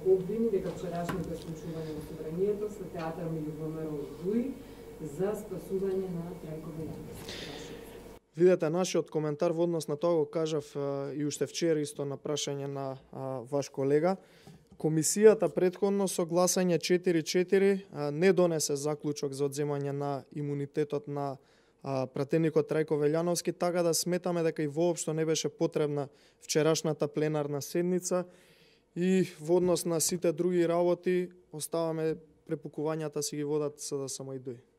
обвини дека вчерашното исклучување во собранието со театар меѓу ВМРО и ДУИ за спасување на Трајко Велјановски. Видете, нашиот коментар во однос на тоа го кажав и уште вчера исто на прашање на ваш колега. Комисијата претходно со гласање 4-4 не донесе заклучок за одземање на имунитетот на пратеникот Трајко Велјановски, така да сметаме дека и воопшто не беше потребна вчерашната пленарна седница и во однос на сите други работи оставаме препукувањата си ги водат СДСМ и ДУИ.